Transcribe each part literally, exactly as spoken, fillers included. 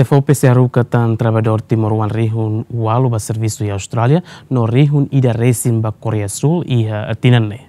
SEFOPE sei haruka tan traballadór timoroan rihun ualu ba servisu iha Austrália, no rihun ida resin ba Koreia Súl iha tinan ne'e.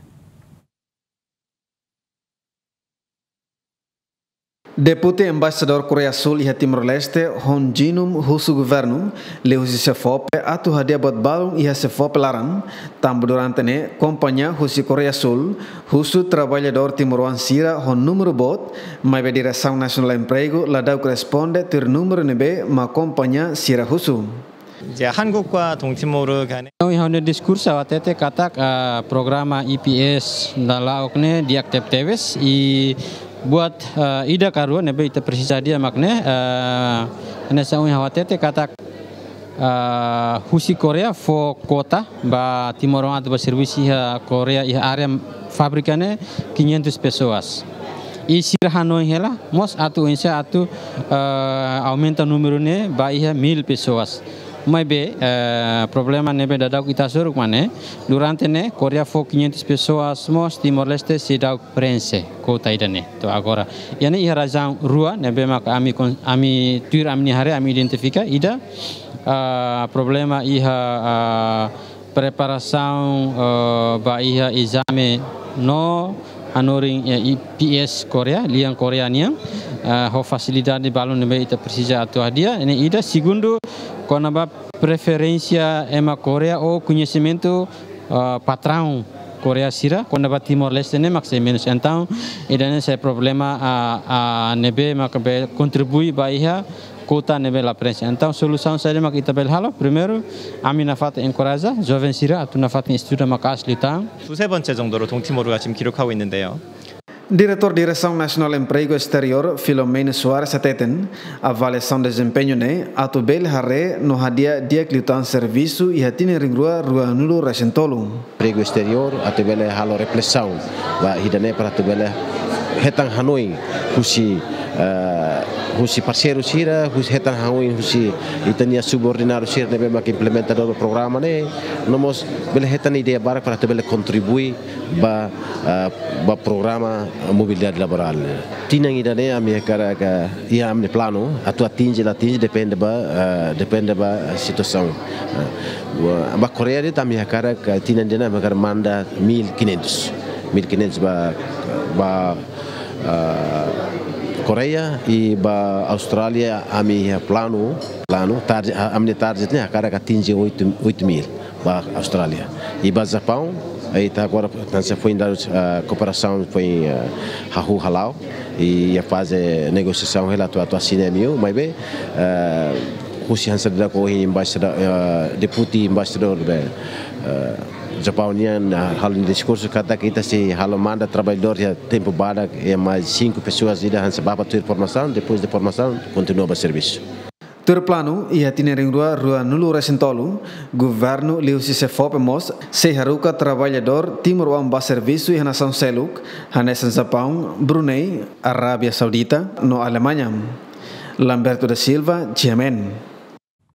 Deputi Embaixadór Koreia Súl iha Timor-Leste, Hon Jin-um, husu governu, liuhusi SEFOPE, atu hadi'a buat balun iha SEFOPE laran, tanba durante ne'e, kompañia husi Koreia Súl husu traballadór timoroan sira ho númeru boot, maibé Diresaun Nasionál Empregu la da'uk responde tuir númeru ne'ebé mak kompañia sira husu. 이제 한국과 동티모르 간의 Iha ha'u-nia diskursu ha'u hatete katak, ah, programa E P S dala ok ne'e di'ak tebetebes, i buat, ah, ida ka rua ne'ebé ita presiza hadi'a mak ne'e, ah, hanesan ohin ha'u hatete katak, ah, husi Koreia fó kuota ba timoroan atu ba servisu iha Koreia iha área fábrika ne'e quinhentas pessoas. I sira hanoin hela mós atu oinsá atu, eh, aumenta númeru ne'e ba iha mil pessoas. Maibé, eh, problema ne'ebé dadauk ita hasoru mak ne'e, durante ne'e Koreia fó quinhentas pessoas mós Timor-Leste seidauk preenxe kuota ida-ne'e to'o agora. Iha ne'e iha razaun rua ne'ebé maka ami kon-, ami tuir ami-nia haree ami identifika ida, ah, problema iha, ah, preparasaun, eh, ba iha ezame no hanorin, eh, E P S Koreia, lian Koreia nian, eh, ho fasilidade balun ne'ebé ita presiza atu hadi'a, ne'e ida. Segundu, kona-ba preferénsia ema Koreia ou koñesimentu, eh, patraun Koreia sira, kona-ba Timor-Leste ne'e mak sei menus. Entaun, ida-ne'e sai problema, ah, ah, ne'ebé maka be kontribui ba iha kuota ne'ebé la preenxe. Entaun, solusaun saida mak ita bele halo? Primeiru, ami nafatin enkoraja joven sira atu nafatin estuda maka'as liután. 두세 번째 정도로 동티모르가 지금 기록하고 있는데요. Diretór Diresaun Nasionál Empregu Esteriór, Filomeno Soares hateten, avaliasaun dezempeñu ne'e atu bele haree no hadi'a di'ak liután servisu iha tinan rihun rua ruanulu resin tolu. Empregu esteriór atu bele halo reflesaun ba ida-ne'e para atu bele hetan hanoin husi, eh, husi parseiru sira, husi hetan hanoin husi ita-nia subordinadu sira ne'ebé mak implementadór programa ne'e, no mós bele hetan ideia barak para atu bele kontribui ba, eh, ba programa mobilidade laborál. Tinan ida-ne'e ami hakarak, iha ami-nia planu, atu atinje la atinje depende ba, eh, depende ba situasaun. Eh, ba, ba Koreia de'it ami hakarak, eh, tinan ida-ne'e ami hakarak manda mil quinhentos. Mil quinhentos ba, ba, eh, Koreia i ba Austrália ami iha planu, planu, target, ah, ami-nia target ne'e hakarak atinje oito, oito mil ba Austrália. I ba Japaun, ita agora, hanesan foin dadu, ah, kooperasaun foin, ah, hahú hala'o, i iha faze negosiasaun hela atu, atu asina M O U, maibé, ah, husi hanesan dadauk ohin embaixada, ah, deputi embaixadór be, ah, Japaun nian, ah, halo nia diskursu katak ita sei halo manda traballadór iha tempu badak, iha mais cinco pessoas ida hanesan bá ba tuir formasaun, depois de formasaun, kontinua ba servisu. Tuir planu, iha tinan rihun rua ruanulu resin tolu, governu liuhusi SEFOPE mós sei haruka traballadór timoroan ba servisu iha nasaun seluk, hanesan Japaun, Brunei, Arábia Saudita, no Alemaña. Lamberto da Silva, G M N.